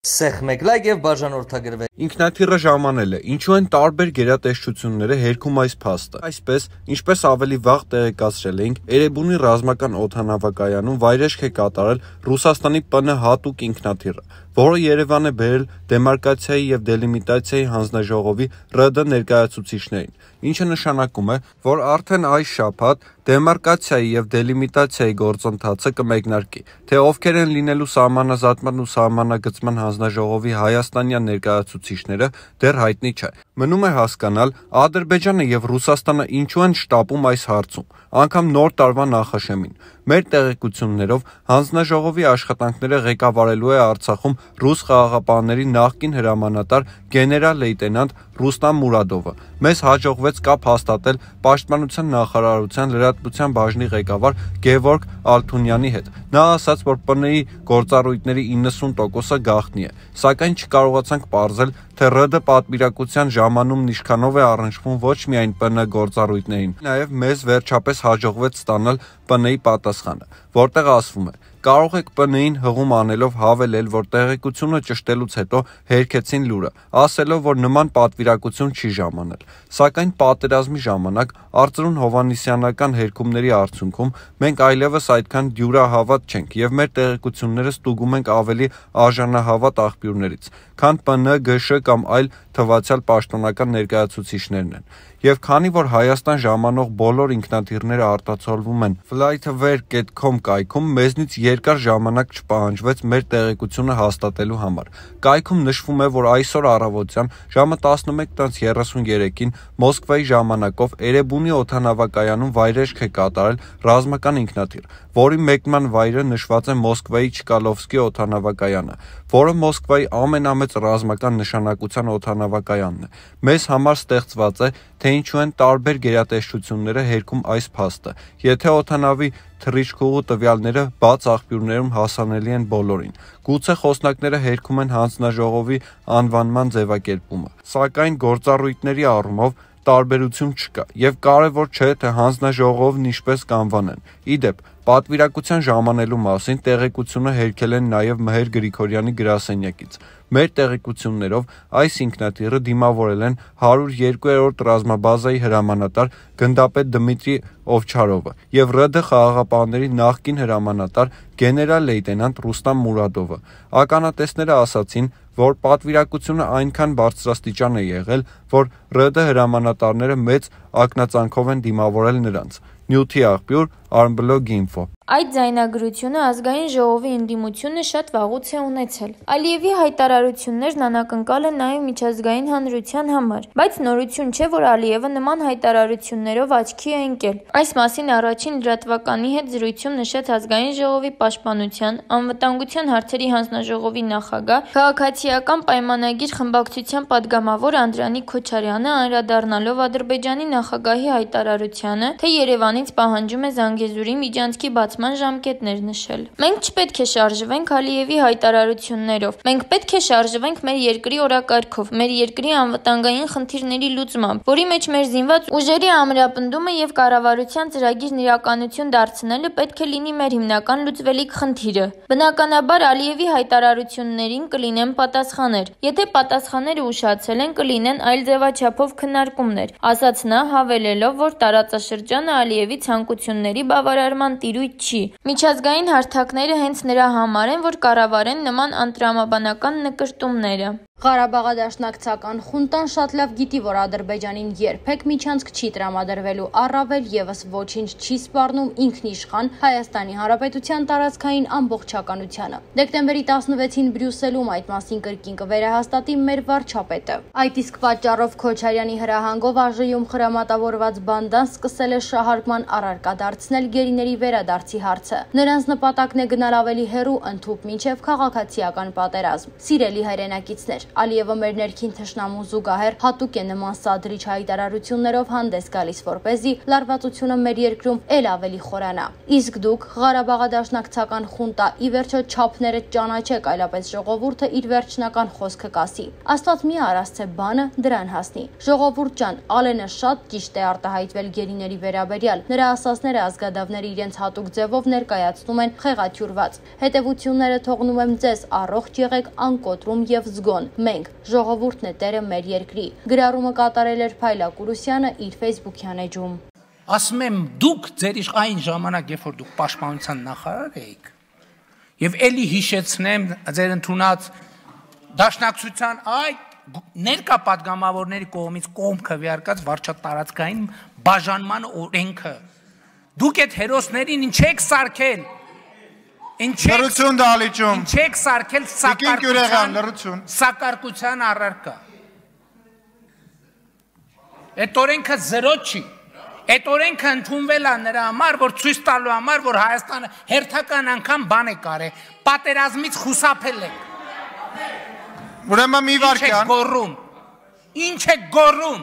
Սեղմեք եւ բաժանորդագրվեք։ Ինքնաթիռը ժամանել է, ինչու են տարբեր գերատեսչությունները հերքում այս փաստը։ Այսպես, ինչպես ավելի վաղ տեղեկացրել էինք, Էրեբունի ռազմական օդանավակայանում վայրեջք է կատարել Ռուսաստանի ՊՆ հատուկ ինքնաթիռը, որը Երևան է բերել դեմարկացիայի եւ դելիմիտացիայի հանձնաժողովի ՌԴ ներկայացուցիչներին, ինչը նշանակում է, որ արդեն այս շաբաթ դեմարկացիայի եւ դելիմիտացիայի գործընթացը կմեկնարկի, թե ովքեր են լինելու սահմանազատման ու սահմանագծման հանձնաժողովի հայաստանյան ներկայացուցիչները դեռ հայտնի չէ։ Մնում է հասկանալ Ադրբեջանը եւ Ռուսաստանը ինչու են շտապում այս հարցում, անգամ նոր տարվա նախաշեմին։ Մեր տեղեկություններով հանձնաժողովի աշխատանքները ղեկավարելու է Արցախում ռուս խաղաղապահների նախկին հրամանատար գեներալ-լեյտենանտ Ռուստամ Մուրադովը։ Մեզ հաջողվեց կապ հաստատել Պաշտպանության նախարարության լրատվության բաժնի ղեկավար Գևորգ Ալթունյանի հետ։ Նա ասաց, որ ՊՆ-ի գործառույթների 90%-ը գաղտնի է, սակայն չկարողացանք պարզել, թե ՌԴ պատվիրակության ժամանումն ինչքանով է առնչվում ոչ միայն ՊՆ գործառույթներին, նաև մեզ վերջապես հաջողվեց ստանալ ՊՆ-ի պատասխանը, որտեղ ասվում է. կարող եք ՊՆ-ին հղում անելով հավելել, որ տեղեկությունը ճշտելուց հետո հերքեցին լուրը, ասելով, որ նման պատվիրակություն չի ժամանել։ Սակայն պատերազմի ժամանակ Արծրուն Հովհաննիսյանական հերքումների արդյունքում մենք այլևս այդքան դյուրահավատ չենք եւ մեր տեղեկությունները ստուգում ենք ավելի արժանահավատ աղբյուրներից, քան ՊՆ, ԳՇ կամ այլ թվացյալ պաշտոնական ներկայացուցիչներն են։ Եվ քանի որ Հայաստան ժամանող բոլոր ինքնաթիռները արտացոլվում են flightaware.com կայքում, մեզնից երկար ժամանակ չպահանջվեց մեր տեղեկությունը հաստատելու համար։ Կայքում նշվում է, որ այսօր առավոտյան ժամը 11:33-ին Մոսկվայի ժամանակով Էրեբունի օդանավակայանում վայրեջք է կատարել ռազմական ինքնաթիռ, որի մեկնման վայրը նշված է Մոսկվայի Չկալովսկի օդանավակայանը, որը Մոսկվայի ամենամեծ ռազմական նշանակության օդանավակայանն է։ Մեզ համար ստեղծված է, թե ինչու են տարբեր գերատեսչությունները հերքում այս փաստը, եթե օդանավի թռիչքուղու տվյալները բաց աղբյուրներում հասանելի են բոլորին։ Գուցե խոսնակները հերքում են հանձնաժողովի անվանման ձևակերպումը, սակայն գործառույթների առումով տարբերություն չկա, եւ կարեւոր չէ, թե հանձնաժողովն ինչպես կանվանեն։ Իդեպ, պատվիրակության ժամանելու մասին տեղեկությունը հերքել են նաեւ Մհեր Գրիգորյանի գրասենյակից։ Մեր տեղեկություններով այս ինքնաթիռը դիմավորել են 102-րդ ռազմաբազայի հրամանատար գնդապետ Դմիտրի Օվչարովը եւ ՌԴ խաղաղապահների նախկին հրամանատար գեներալ-լեյտենանտ Ռուստամ Մուրադովը։ Ականատեսները ասացին, որ պատվիրակությունը այնքան բարձրաստիճան է եղել, որ ՌԴ հրամանատարները մեծ ակնածանքով են դիմավորել նրանց։ Նյութի աղբյուր Armblog.info։ Այդ ձայնագրությունը ազգային ժողովի ընդդիմությունը շատ վաղուց է ունեցել։ Ալիևի հայտարարություններն անակնկալ են նաև միջազգային հանրության համար, բայց նորություն չէ, որ Ալիևը նման հայտարարություններով աչքի է ընկել։ Այս մասին առաջին լրատվականի հետ զրույցում նշեց ազգային ժողովի պաշտպանության, անվտանգության հարցերի հանձնաժողովի նախագահ, քաղաքացիական պայմանագիր խմբակցության падգամավոր Անդրանիկ Քոչարյանը, անդրադառնալով Ադրբեջանի նախագահի հայտարարությանը, թե Երևանից պահանջում է Զանգեզուրի միջանցքի բացման ժամկետներ նշել։ Մենք չպետք է շարժվենք Ալիևի հայտարարություններով։ Մենք պետք է շարժվենք մեր երկրի օրակարգով, մեր երկրի անվտանգային խնդիրների լուծմամբ, որի մեջ մեր զինված ուժերի ամրապնդումը եւ կառավարության ծրագիրն իրականություն դարձնելը պետք է լինի մեր հիմնական լուծվելիք խնդիրը։ Բնականաբար Ալիևի հայտարարություններին կլինեն պատասխաններ։ Եթե պատասխանները ուշացել են, կլինեն այլ ձևաչափով քննարկումներ, ասաց նա, հավելելով, որ տարածաշրջանը Ալիևի ցանկությունների բավարարման տիրույթ չի։ Միջազգային հարթակները հենց նրա համար են, որ կառավարեն նման անտրամաբանական նկրտումները։ Ղարաբաղադաշնակցական խունտան շատ լավ գիտի, որ Ադրբեջանին երբեք միջանցք չի տրամադրվելու, առավել եւս ոչինչ չի սպառնում ինքնիշխան Հայաստանի Հանրապետության տարածքային ամբողջականությանը։ Դեկտեմբերի 16-ին Բրյուսելում այդ մասին կրկին կվերահաստատի մեր վարչապետը։ Այդ իսկ պատճառով Քոչարյանի հրահանգով ԱԺ-ում խրամատավորված բանդան սկսել է շահարկման առարկա դարձնել գերիների վերադարձի հարցը։ Նրանց նպատակն է գնալ ավելի հեռու ընդհուպ մինչև քաղաքացիական պատերազմ։ Սիրելի հայրենակիցներ, Ալիևը մեր ներքին թշնամու զուգահեռ հատուկ է նման սադրիչ հայտարարություններով հանդես գալիս, որպեսզի լարվածությունը մեր երկրում ել ավելի խորանա։ Իսկ դուք Ղարաբաղադաշնակցական խունտա ի վերջո չափները ճանաչեք, այլապես ժողովուրդը իր վերջնական խոսքը կասի։ Աստված մի արասցե բանը դրան հասնի։ Ժողովուրդ ջան, Ալենը շատ ճիշտ է արտահայտվել գերիների վերաբերյալ։ Նրա ասածները ազգային ազգադավները իրենց հատուկ ձևով ներկայացնում են խեղաթյուրված։ Հետևությունները թողնում եմ ձեզ, առողջ եղեք, անկոտրում եւ զգոն։ Մենք, ժողովուրդն է տերը մեր երկրի։ Գրառումը կատարել էր Փայլա Կուրուսյանը իր Facebook-յան էջում։ Ասում եմ դուք ձեր այն ժամանակ, երբ որ դուք պաշտպանության նախարար էիք, եւ էլի հիշեցնեմ ձեր ընդունած դաշնակցության ներկա պատգամավորների կողմից կողմ քվեարկած վարչատարածքային բաժանման օրենքը։ Դուք այդ հերոսներին ինչ եք սարքել։ Լրություն դալիճում։ Ինչ եք սարքել սակարկության առարկա։ Այդ օրենքը զրո չի։ Այդ օրենքը ընդունվել է նրա համար, որ ցույց տալու համար, որ Հայաստանը հերթական անգամ բան է կարել, պատերազմից խուսափել է։ Ուրեմն մի վարքյան։ Ինչ է գոռում։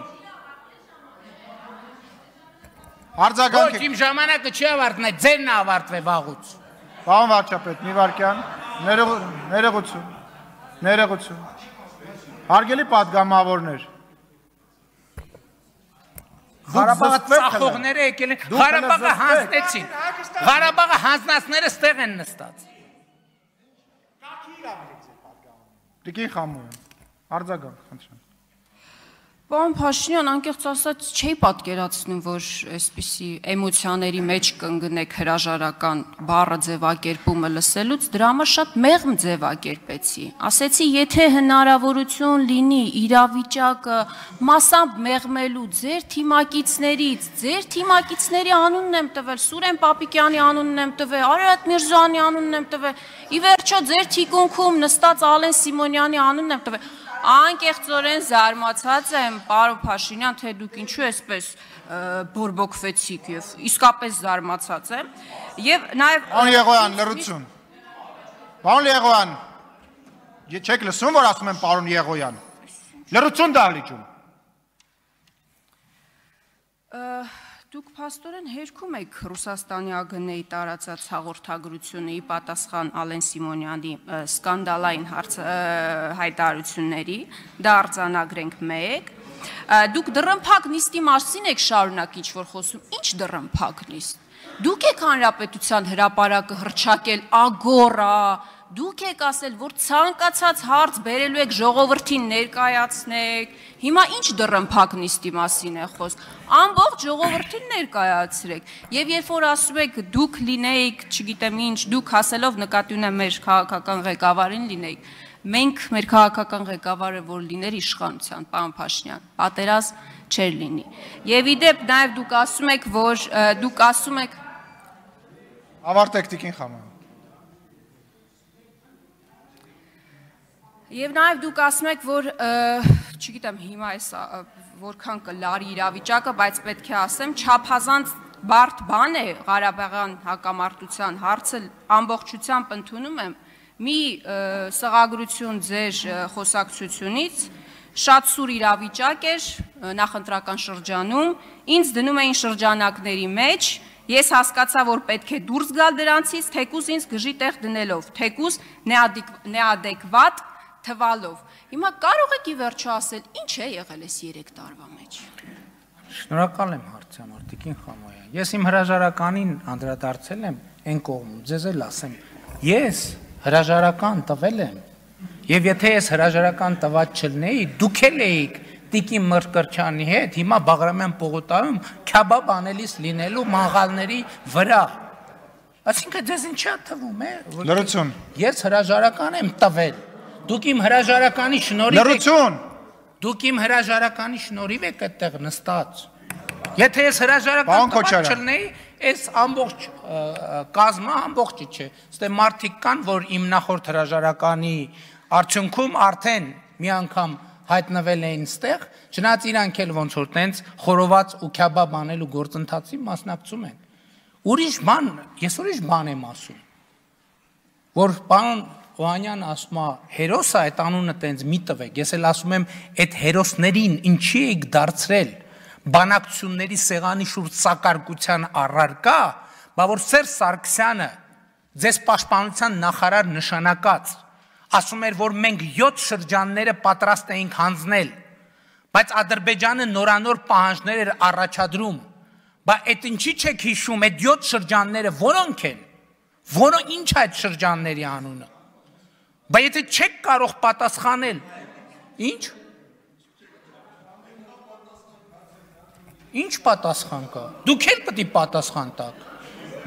Արձագանք։ Ոչ, իմ ժամանակը չի ավարտվել, ձերն է ավարտվել վաղուց։ Պարոն վարչապետ, մի վարքյան։ Ներողություն։ Հարգելի պատգամավորներ։ Ղարաբաղը ծախողները եկել են, Ղարաբաղը հանձնեցին։ Ղարաբաղը հանձնածները ստեղ են նստած։ Տիկին Խամոյան, արձագանք, խնդրեմ։ Պարոն Փաշինյան, անկեղծ ասած չի պատկերացնում, որ այսպիսի էմոցիաների մեջ կընկնեք հրաժարական բառը ձևակերպումը լսելուց, դրա համար շատ մեղմ ձևակերպեցի։ Ասեցի, եթե հնարավորություն լինի իրավիճակը մասամբ մեղմելու ձեր թիմակիցների անունն եմ տվել, Սուրեն Պապիկյանի անունն եմ տվել, Արարատ Միրզոյանի անունն եմ տվել, ի վերջո ձեր թիկունքում նստած Ալեն Սիմոնյանի անունն եմ տվել։ Անկեղծորեն զարմացած եմ, պարոն Փաշինյան, թե դուք ինչու այսպես բորբոքվեցիք եւ իսկապես զարմացած եմ եւ նաեւ Պարոն Եղոյան, լրություն։ Պարոն Եղոյան, չեք լսում, որ ասում եմ պարոն Եղոյան։ Լրություն դահլիճում։ Դուք փաստորեն հերքում եք Ռուսաստանի ԱԳՆ-ի տարածած հաղորդագրությունը ի պատասխան Ալեն Սիմոնյանի սկանդալային հայտարարությունների, դա արձանագրենք 1։ Դուք դռնփակ նիստի մասին եք շարունակ ինչ-որ խոսում, ինչ դռնփակ նիստ։ Դուք եք հանրապետության հրապարակը հռչակել ագորա, դուք եք ասել, որ ցանկացած հարց բերելու եք ժողովրդին ներկայացնեք, հիմա ինչ դռնփակ նիստի մասին է խոսք, ամբողջ ժողովրդին ներկայացրեք, եւ երբ որ ասում եք դուք լինեիք, չգիտեմ ինչ, դուք ասելով նկատի ունեմ մեր քաղաքական ղեկավարին լինեիք, մենք մեր քաղաքական ղեկավարը որ լիներ իշխանության, պարոն Փաշինյան, պատերազմ չէր լինի, եւ իդեպ նաեւ դուք ասում եք, որ դուք ասում եք Ավարտեք Տիկին Խամոյան։ Եվ նաև դուք ասում եք, որ, չգիտեմ, հիմա այս որքան կլարի իրավիճակը, բայց պետք է ասեմ, չափազանց բարդ բան է Ղարաբաղյան հակամարտության հարցը ամբողջությամբ ընդունում եմ, մի սղագրություն ձեր խոսակցությունից, շատ սուր իրավիճակ էր նախընտրական շրջանում, ինձ դնում էին շրջանակների մեջ, ես հասկացա, որ պետք է դուրս գալ դրանցից, թեկուզ ինձ գժի տեղ դնելով, թեկուզ նեադեկվատ թվալով։ Հիմա կարող եք ի վերջո ասել, ինչ է եղել այս 3 տարվա մեջ։ Շնորհակալ եմ հարցի համար, Տիկին Խամոյան։ Ես իմ հրաժարականին անդրադարձել եմ այն կողմում, ձեզ էլ ասեմ, ես հրաժարական տվել եմ, եւ եթե ես հրաժարական տված չլինեի, դուք էլ էիք Տիկին Մրկրչյանի հետ, հիմա Բաղրամյան պողոտայում քյաբաբ անելիս լինելու մաղալների վրա։ Այսինքն ձեզ ինչ է թվում է։ Լրություն։ Ես հրաժարական եմ տվել։ Դուք իմ հրաժարականի շնորհիվ Լրություն։ Դուք իմ հրաժարականի շնորհիվ եք այդտեղ նստած։ Եթե ես հրաժարական տված չլինեի, այս ամբողջ կազմը ամբողջը չէ։ Ստե մարդիկ կան, որ իմ նախորդ հրաժարականի արդյունքում արդեն մի անգամ հայտնվել էին ստեղ, չնայած իրանք էլ ոնց որ տենց խորոված ու քյաբաբ անելու գործընթացի մասնակցում են։ Ուրիշ բան եմ ասում, որ պարոն Օհանյանը ասում է, հերոսը այդ անունը տենց մի տվեք, ես էլ ասում եմ, այդ հերոսներին ինչի եք դարձրել բանակցությունների սեղանի շուրջ սակարկության առարկա, բա որ Սերժ Սարգսյանը ձեզ պաշտպանության նախարար նշանակած, ասում էր, որ մենք 7 շրջանները պատրաստ էինք հանձնել, բայց Ադրբեջանը նորանոր պահանջներ էր առաջադրում, Բա այդ ինչի չեք հիշում, այդ 7 շրջանները որոնք են, որոնք ինչ այդ շրջանների անունը, բա եթե չեք կարող պատասխանել, ինչ, ինչ պատասխան կա, դուք էլ պետք է պատասխան տաք,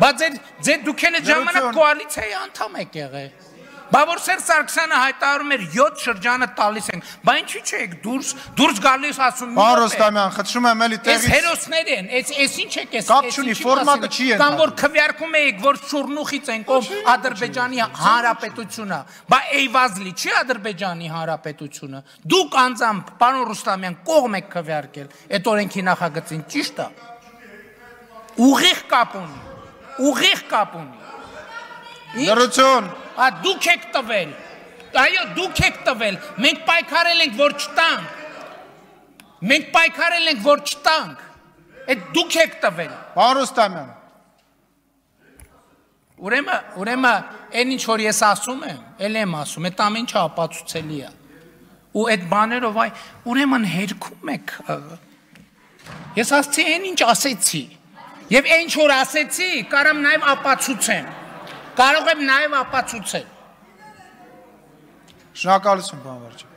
բա դուք էլ այդ ժամանակ կոալիցիայի անդամ եք եղել, բա որ Սերժ Սարգսյանը հայտարարում էր 7 շրջանը տալիս ենք, բա ինչի՞ չեք դուրս գալիս ասում մի Պարոն Ռուստամյան, խնդրում եմ էլի տեղից։ Այս հերոսներ են, այս ինչ եք, Կապ չունի, ֆորմատը չի են։ Կամ որ քվեարկում եք, որ շուրնուխից ենք ով Ադրբեջանի Հանրապետությունը, բա Էյվազլի չի Ադրբեջանի Հանրապետությունը։ Դուք անձամբ, պարոն Ռուստամյան, կողմ եք քվեարկել այդ օրենքի նախագծին, ճիշտ է։ Ուղիղ կապ ունի, ուղիղ կապ ունի։ Լրություն։ Դուք եք տվել, այո, դուք եք տվել, մենք պայքարել ենք, որ չտանք, մենք պայքարել ենք, որ չտանք, այդ դուք եք տվել։ Պարոն Ռուստամյան։ Ուրեմն, այն ինչ որ ես ասում եմ, էլ եմ ասում, այդ ամեն ինչը ապացուցելի է։ Ու այդ բաներով ուրեմն հերքում եք։ Ես ասացի այն ինչ ասեցի։ Եվ այն ինչ որ ասեցի, կարամ նաև ապացուցեմ։ Կարող եմ նաև ապացուցել։ Շնորհակալություն, պարոն վարչապետ։